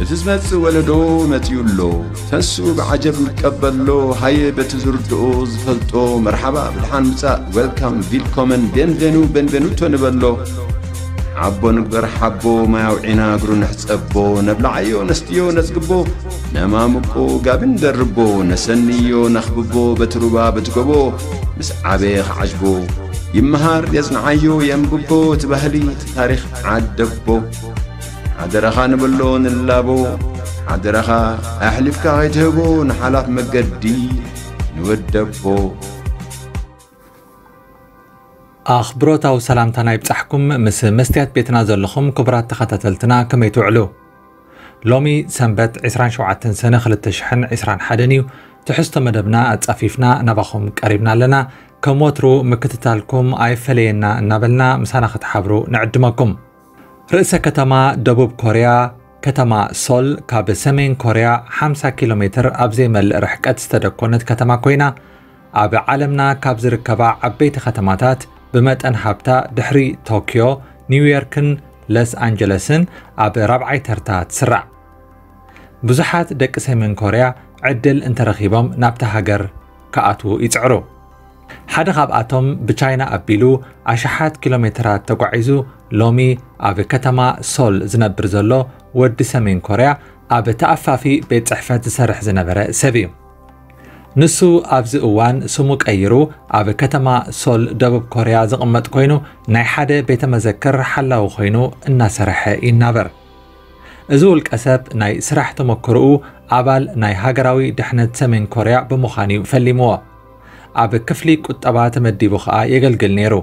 እቲ ዝመጽእ ወለዶ መጺኡ ኣሎ። ተንስኡ ብዓጀብ ንቀበሎ። ሃየ በቲ ዝርድኦ ዝፈልጦ መርሓባ ብድሓን ምጻእ፣ ዌልካም፣ ቪልኮመን፣ ቤንቬኑ፣ ቤንቬኑቶ ንበሎ። ሓቦ ንግበር ሓቦ፣ ማይ ኣውዒና እግሩ ንሕጸቦ። ነብልዓዮ ነስትዮ ነጽግቦ፣ ነማምቆ ጋቢ ንደርቦ። ነሰንዮ ነኽብቦ በቲ ሩባ በቲ ጎቦ። ምስ ዓበየ ክዓጅቦ ይመሃር የጽንዓዮ የንብቦ። እቲ ባህሊ እቲ ታሪኽ ዓደቦ። ሓደራኻ ንብሎ ንላቦ። ሓደራኻ ኣሕሊፍካ ከይትህቦ ንሓላፍ መገዲ ንወደቦ። ኣኽብሮታዊ ሰላምታና ይብጻሕኩም። ምስ መስትያት ቤትና ዘለኹም ክቡራት ተኸታተልትና ከመይ ትውዕሉ? ሎሚ ሰንበት ዕስራን ሸውዓተን ሰነ ክልተ ሽሕን ዕስራን ሓደን እዩ። ትሕዝቶ መደብና ኣጻፊፍና ናባኹም ቀሪብና ኣለና። ከም ወትሩ ምክትታልኩም ኣይፈለየና እናበልና ምሳና ክትሓብሩ ንዕድመኩም። ርእሰ ከተማ ደቡብ ኮርያ ከተማ ሶል ካብ ሰሜን ኮርያ ሓምሳ ኪሎ ሜትር ኣብ ዘይመልእ ርሕቀት ዝተደኮነት ከተማ ኮይና፣ ኣብ ዓለምና ካብ ዝርከባ ዓበይቲ ከተማታት ብመጠን ሃብታ ድሕሪ ቶክዮ፣ ኒውዮርክን ለስ ኣንጀለስን ኣብ ራብዓይ ተርታ ትስራዕ። ብዙሓት ደቂ ሰሜን ኮርያ ዕድል እንተረኺቦም ናብታ ሃገር ክኣትዉ ይጽዕሩ። ሓደ ካብኣቶም ብቻይና ኣቢሉ ኣሽሓት ኪሎ ሜትራት ተጓዒዙ ሎሚ ኣብ ከተማ ሶል ዝነብር ዘሎ ወዲ ሰሜን ኮርያ ኣብ ተኣፋፊ ቤት ጽሕፈት ዝሰርሕ ዝነበረ ሰብ እዩ። ንሱ ኣብዚ እዋን ስሙ ቀይሩ ኣብ ከተማ ሶል ደቡብ ኮርያ ዝቕመጥ ኮይኑ ናይ ሓደ ቤተ መዘክር ሓላዊ ኮይኑ እናሰርሐ ይናበር። እዚ ውልቀ ሰብ ናይ ስራሕ ተመክሮኡ ኣባል ናይ ሃገራዊ ድሕነት ሰሜን ኮርያ ብምዃን እዩ ፈሊምዎ። ኣብ ክፍሊ ቁጠባ ተመዲቡ ኸኣ የገልግል ነይሩ።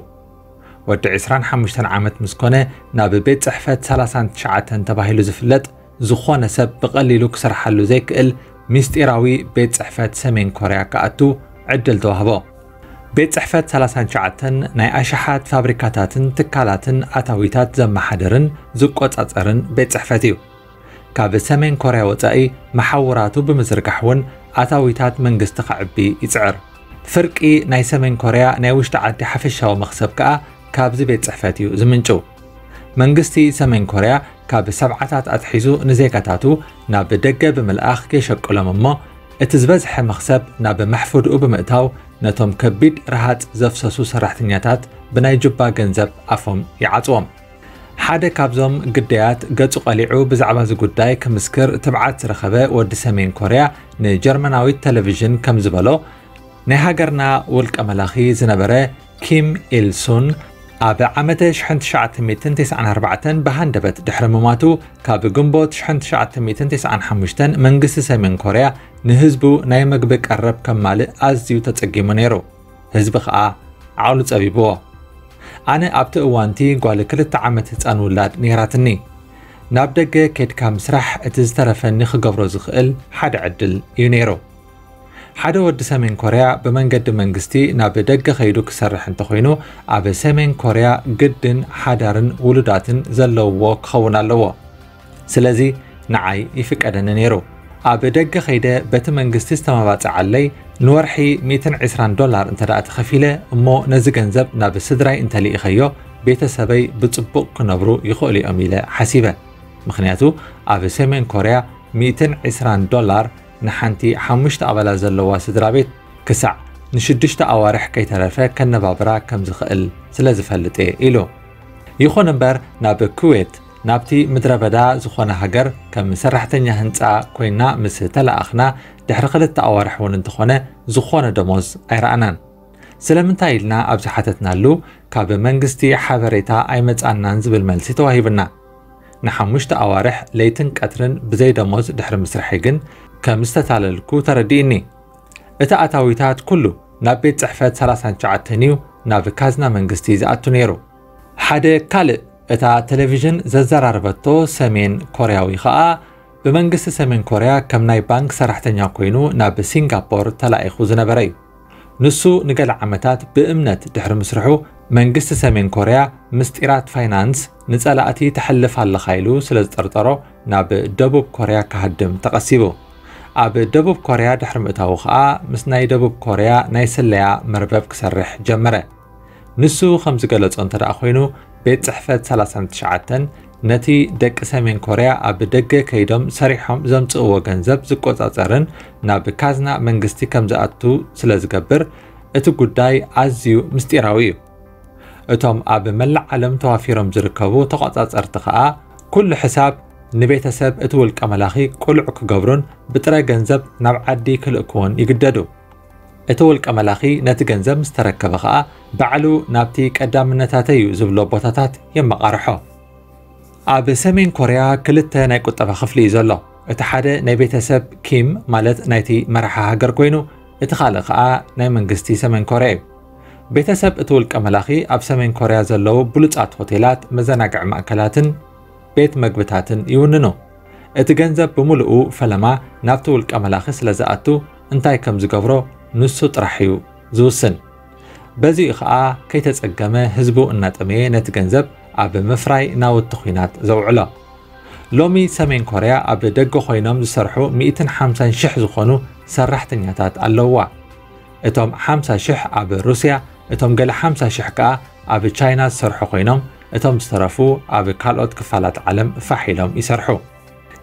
ወዲ ዕስራን ሓሙሽተን ዓመት ምስ ኮነ ናብ ቤት ጽሕፈት ሰላሳን ትሽዓተን ተባሂሉ ዝፍለጥ ዝኾነ ሰብ ብቐሊሉ ክሰርሓሉ ዘይክእል ምስጢራዊ ቤት ጽሕፈት ሰሜን ኮርያ ክኣቱ ዕድል ተዋህቦ። ቤት ጽሕፈት ሰላሳን ትሽዓተን ናይ ኣሽሓት ፋብሪካታትን ትካላትን ኣታዊታት ዘመሓድርን ዝቆጻጸርን ቤት ጽሕፈት እዩ። ካብ ሰሜን ኮርያ ወጻኢ መሓውራቱ ብምዝርጋሕ እውን ኣታዊታት መንግስቲ ከዕቢ ይጽዕር። ፍርቂ ናይ ሰሜን ኮርያ ናይ ውሽጢ ዓዲ ሓፈሻዊ መኽሰብ ከኣ ካብዚ ቤት ጽሕፈት እዩ ዝምንጭው። መንግስቲ ሰሜን ኮርያ ካብ ሰብዓታት ኣትሒዙ ንዜጋታቱ ናብ ደገ ብምልኣኽ የሸቅሎም እሞ፣ እቲ ዝበዝሐ መኽሰብ ናብ መሕፍድኡ ብምእታው ነቶም ከቢድ ረሃጽ ዘፍሰሱ ሰራሕተኛታት ብናይ ጁባ ገንዘብ ኣፎም ይዓጽዎም። ሓደ ካብዞም ግዳያት ገጹ ቀሊዑ ብዛዕባ እዚ ጉዳይ ክምስክር ትብዓት ዝረኸበ ወዲ ሰሜን ኮርያ ንጀርመናዊት ቴሌቪዥን ከም ዝበሎ፣ ናይ ሃገርና ውልቀ መላኺ ዝነበረ ኪም ኢል ሱን ኣብ ዓመተ ሽሕን ትሽዓተ ሚእትን ተስዓን ኣርባዕተን ብሃንደበት ድሕሪ ምማቱ፣ ካብ ግንቦት ሽሕን ትሽዓተ ሚእትን ተስዓን ሓሙሽተን መንግስቲ ሰሜን ኮርያ ንህዝቡ ናይ መግቢ ቀረብ ከማልእ ኣዝዩ ተጸጊሙ ነይሩ። ህዝቢ ኸኣ ዓቕሉ ጸቢብዎ። ኣነ ኣብቲ እዋንቲ ጓል ክልተ ዓመት ህጻን ውላድ ነይራትኒ። ናብ ደገ ኬድካ ምስራሕ እቲ ዝተረፈኒ ክገብሮ ዝኽእል ሓደ ዕድል እዩ ነይሩ። ሓደ ወዲ ሰሜን ኮርያ ብመንገዲ መንግስቲ ናብ ደገ ከይዱ ክሰርሕ እንተኾይኑ፣ ኣብ ሰሜን ኮርያ ግድን ሓዳርን ውሉዳትን ዘለውዎ ክኸውን ኣለዎ። ስለዚ ንዓይ ይፍቀደኒ ነይሩ። ኣብ ደገ ከይደ በቲ መንግስቲ ዝተመባጽዓለይ ንወርሒ ሚእትን ዕስራን ዶላር እንተ ደኣ ተኸፊለ እሞ ነዚ ገንዘብ ናብ ስድራይ እንተልኢኸዮ ቤተሰበይ ብጽቡቕ ክነብሩ ይኽእሉ እዮም ኢለ ሓሲበ። ምኽንያቱ ኣብ ሰሜን ኮርያ ሚእትን ዕስራን ዶላር ንሓንቲ ሓሙሽተ ኣባላት ዘለዋ ስድራ ቤት ክሳዕ ንሽዱሽተ ኣዋርሕ ከይተረፈ ከነባብራ ከም ዝኽእል ስለ ዝፈልጥ እየ ኢሉ። ይኹን እምበር ናብ ኩዌት ናብቲ ምድረ በዳ ዝኾነ ሃገር ከም ሰራሕተኛ ህንጻ ኮይና ምስ ተለኣኽና ድሕሪ ክልተ ኣዋርሕ እውን እንተኾነ ዝኾነ ደሞዝ ኣይረኣናን። ስለምንታይ ኢልና ኣብ ዝሓተትናሉ ካብ መንግስቲ ሓበሬታ ኣይመጻናን ዝብል መልሲ ተዋሂቡና። ንሓሙሽተ ኣዋርሕ ለይትን ቀትርን ብዘይ ደሞዝ ድሕሪ ምስርሐይ ግን ከም ዝተታለልኩ ተረዲእኒ። እቲ ኣታዊታት ኩሉ ናብ ቤት ጽሕፈት ሰላሳን ትሽዓተን እዩ ናብ ካዝና መንግስቲ ዝኣቱ ነይሩ። ሓደ ካልእ እታ ቴሌቪዥን ዘዘራረበቶ ሰሜን ኮርያዊ ኸኣ ብመንግስቲ ሰሜን ኮርያ ከም ናይ ባንክ ሰራሕተኛ ኮይኑ ናብ ሲንጋፖር ተላኢኹ ዝነበረ እዩ። ንሱ ንገለ ዓመታት ብእምነት ድሕሪ ምስርሑ መንግስቲ ሰሜን ኮርያ ምስጢራት ፋይናንስ ንጸላእቲ ተሕልፍ ኣለኻ ኢሉ ስለ ዝጠርጠሮ ናብ ደቡብ ኮርያ ክሃድም ተቐሲቡ። ኣብ ደቡብ ኮርያ ድሕሪ ምእታዉ ኸኣ ምስ ናይ ደቡብ ኮርያ ናይ ስለያ መርበብ ክሰርሕ ጀመረ። ንሱ ከም ዝገለጾ እንተ ደኣ ኮይኑ ቤት ጽሕፈት ሰላሳን ትሽዓተን ነቲ ደቂ ሰሜን ኮርያ ኣብ ደገ ከይዶም ሰሪሖም ዘምጽእዎ ገንዘብ ዝቆጻጸርን ናብ ካዝና መንግስቲ ከም ዝኣቱ ስለ ዝገብር፣ እቲ ጉዳይ ኣዝዩ ምስጢራዊ እዩ። እቶም ኣብ መላእ ዓለም ተዋፊሮም ዝርከቡ ተቖጻጸርቲ ከኣ፣ ኩሉ ሕሳብ ንቤተሰብ እቲ ውልቀ መላኺ ቅሉዕ ክገብሩን ብጥረ ገንዘብ ናብ ዓዲ ክልእክዎን ይግደዱ። እቲ ውልቀ መላኺ ነቲ ገንዘብ ምስ ተረከበ ከኣ፣ ባዕሉ ናብቲ ቀዳምነታተይ እዩ ዝብሎ ቦታታት የመቓርሖ። ኣብ ሰሜን ኮርያ ክልተ ናይ ቁጠባ ክፍሊ እዩ ዘሎ። እቲ ሓደ ናይ ቤተሰብ ኪም፣ ማለት ናይቲ መራሒ ሃገር ኮይኑ፣ እቲ ካልእ ከኣ ናይ መንግስቲ ሰሜን ኮርያ እዩ። ቤተሰብ እቲ ውልቀ መላኺ ኣብ ሰሜን ኮርያ ዘለዉ ብሉጻት ሆቴላት፣ መዘናግዒ ማእከላትን ቤት መግብታትን ይውንኑ። እቲ ገንዘብ ብምሉኡ ፈለማ ናብቲ ውልቀ መላኺ ስለ ዝኣቱ፣ እንታይ ከም ዝገብሮ ንሱ ጥራሕ እዩ ዝውስን። በዚኡ ኸኣ ከይተጸገመ ህዝቡ እናጠመየ ነቲ ገንዘብ ኣብ ምፍራይ ናውቲ ኲናት ዘውዕሎ። ሎሚ ሰሜን ኮርያ ኣብ ደገ ኮይኖም ዝሰርሑ ሚእትን ሓምሳን ሽሕ ዝኾኑ ሰራሕተኛታት ኣለውዋ። እቶም ሓምሳ ሽሕ ኣብ ሩስያ፣ እቶም ገለ ሓምሳ ሽሕ ከኣ ኣብ ቻይና ዝሰርሑ ኮይኖም፣ እቶም ዝተረፉ ኣብ ካልኦት ክፋላት ዓለም ፋሕ ኢሎም ይሰርሑ።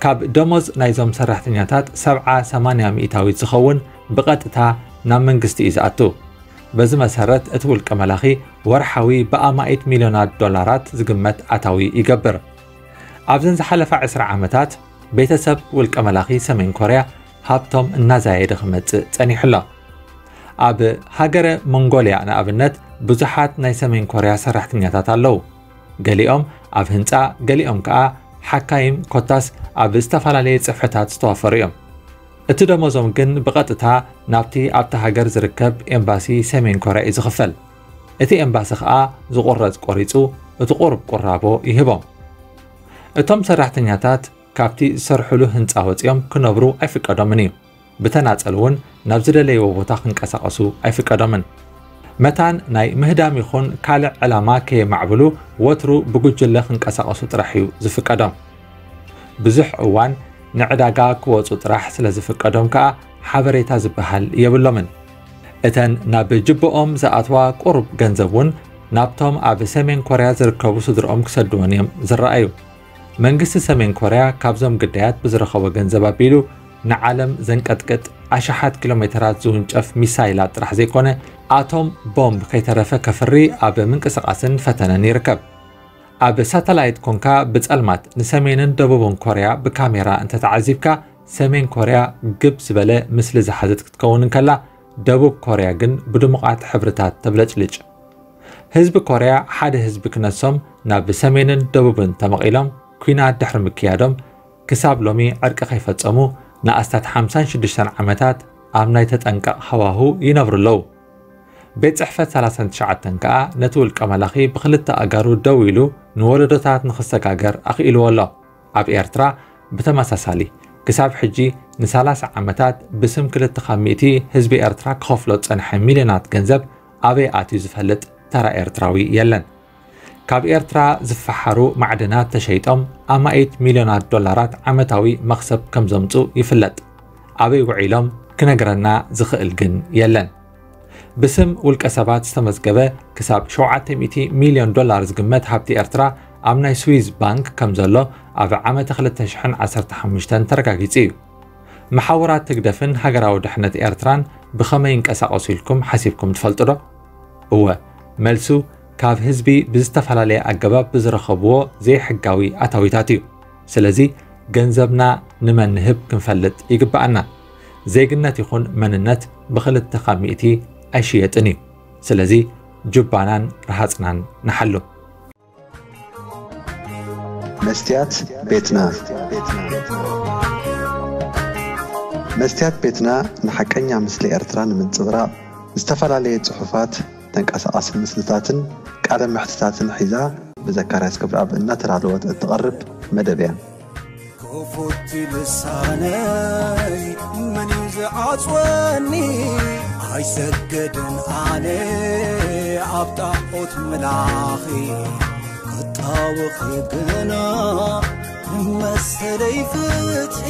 ካብ ደሞዝ ናይዞም ሰራሕተኛታት ሰብዓ ሰማንያ ሚእታዊት ዝኸውን ብቐጥታ ናብ መንግስቲ እዩ ዝኣቱ። በዚ መሰረት እቲ ውልቀ መላኺ ወርሓዊ ብኣማኢት ሚልዮናት ዶላራት ዝግመት ኣታዊ ይገብር። ኣብዘን ዝሓለፋ ዕስራ ዓመታት ቤተሰብ ውልቀ መላኺ ሰሜን ኮርያ ሃብቶም እናዛየደ ክመጽእ ጸኒሑ ኣሎ። ኣብ ሃገረ ሞንጎልያ ንኣብነት ብዙሓት ናይ ሰሜን ኮርያ ሰራሕተኛታት ኣለዉ። ገሊኦም ኣብ ህንጻ፣ ገሊኦም ከኣ ሓካይም ኮታስ ኣብ ዝተፈላለየ ጽፍሕታት ዝተዋፈሩ እዮም። እቲ ደሞዞም ግን ብቐጥታ ናብቲ ኣብታ ሃገር ዝርከብ ኤምባሲ ሰሜን ኮርያ እዩ ዝኽፈል። እቲ ኤምባሲ ከኣ ዝቑረጽ ቆሪጹ እቲ ቁሩብ ቁራቦ ይህቦም። እቶም ሰራሕተኛታት ካብቲ ዝሰርሕሉ ህንጻ ወጺኦም ክነብሩ ኣይፍቀዶምን እዩ። ብተናጸል እውን ናብ ዝደለይዎ ቦታ ክንቀሳቐሱ ኣይፍቀዶምን። መታን ናይ ምህዳም ይኹን ካልእ ዕላማ ከየማዕብሉ ወትሩ ብጉጅለ ክንቀሳቐሱ ጥራሕ እዩ ዝፍቀዶም። ብዙሕ እዋን ንዕዳጋ ክወጹ ጥራሕ ስለ ዝፍቀዶም ከኣ ሓበሬታ ዝበሃል የብሎምን። እተን ናብ ጅብኦም ዝኣትዋ ቁሩብ ገንዘብ እውን ናብቶም ኣብ ሰሜን ኮርያ ዝርከቡ ስድርኦም ክሰድወን እዮም ዝረኣዩ። መንግስቲ ሰሜን ኮርያ ካብዞም ግዳያት ብዝረኸቦ ገንዘብ ኣቢሉ ንዓለም ዘንቀጥቅጥ ኣሽሓት ኪሎ ሜተራት ዝውንጨፍ ሚሳይላት ጥራሕ ዘይኮነ፣ ኣቶም ቦምብ ከይተረፈ ከፍሪ ኣብ ምንቅስቓስን ፈተነን ይርከብ። ኣብ ሳተላይት ኮንካ ብጸልማት ንሰሜንን ደቡብን ኮርያ ብካሜራ እንተተዓዚብካ፣ ሰሜን ኮርያ ግብ ዝበለ ምስሊ ዝሓዘት ክትከውን እንከላ፣ ደቡብ ኮርያ ግን ብድሙቓት ሕብርታት ተብለጭልጭ። ህዝቢ ኮርያ ሓደ ህዝቢ ክነሶም ናብ ሰሜንን ደቡብን ተመቒሎም ኲናት ድሕሪ ምክያዶም፣ ክሳብ ሎሚ ዕርቂ ከይፈጸሙ ንኣስታት ሓምሳን ሽዱሽተን ዓመታት ኣብ ናይ ተጠንቀቕ ሃዋሁ ይነብሩ ኣለዉ። ቤት ጽሕፈት ሰላሳን ትሽዓተን ከኣ ነቲ ውልቀ መላኺ ብኽልተ ኣእጋሩ ደው ኢሉ ንወለዶታት ንኽሰጋገር ኣኽኢልዎ ኣሎ። ኣብ ኤርትራ ብተመሳሳሊ ክሳብ ሕጂ ንሰላሳ ዓመታት ብስም ክልተ ካብ ሚእቲ ህዝቢ ኤርትራ ክኸፍሎ ዝጸንሐ ሚልዮናት ገንዘብ ኣበይ ኣትዩ ዝፈልጥ ተራ ኤርትራዊ የለን። ካብ ኤርትራ ዝፈሓሩ ማዕድናት ተሸይጦም ኣማኢት ሚልዮናት ዶላራት ዓመታዊ መኽሰብ ከም ዘምጹ ይፍለጥ። ኣበይ ውዒሎም ክነግረና ዝኽእል ግን የለን። ብስም ውልቀ ሰባት ዝተመዝገበ ክሳብ ሸውዓተ ሚእቲ ሚልዮን ዶላር ዝግመት ሃብቲ ኤርትራ ኣብ ናይ ስዊዝ ባንክ ከም ዘሎ ኣብ ዓመተ ክልተ ሽሕን ዓሰርተ ሓሙሽተን ተረጋጊጹ እዩ። መሓውራት ህግደፍን ሃገራዊ ድሕነት ኤርትራን ብኸመይ ይንቀሳቐሱ ኢልኩም ሓሲብኩም ትፈልጡ ዶ? እወ፣ መልሱ ካብ ህዝቢ ብዝተፈላለየ ኣገባብ ብዝረኸብዎ ዘይሕጋዊ ኣታዊታት እዩ። ስለዚ ገንዘብና ንመን ንህብ ክንፈልጥ ይግብኣና። ዜግነት ይኹን መንነት ብኽልተ ካብ ሚእቲ ኣይሽየጥን እዩ። ስለዚ ጁባናን ረሃጽናን ንሓሉ። መስትያት ቤትና። መስትያት ቤትና ንሓቀኛ ምስሊ ኤርትራ ንምንጽብራቕ ዝተፈላለየ ጽሑፋት፣ ተንቀሳቓሲ ምስልታትን ቃለ መሕትታትን ሒዛ ብዘካርያስ ገብረኣብ እናተዳለወት እትቐርብ መደብ እያ። ክፉት ልሳነይ መን እዩ ዝዓጽወኒ? ኣይሰገድን ኣነ ኣብ ጣዖት ምላኺ ክጣወኺ ግና መሰለይ ፍትሒ።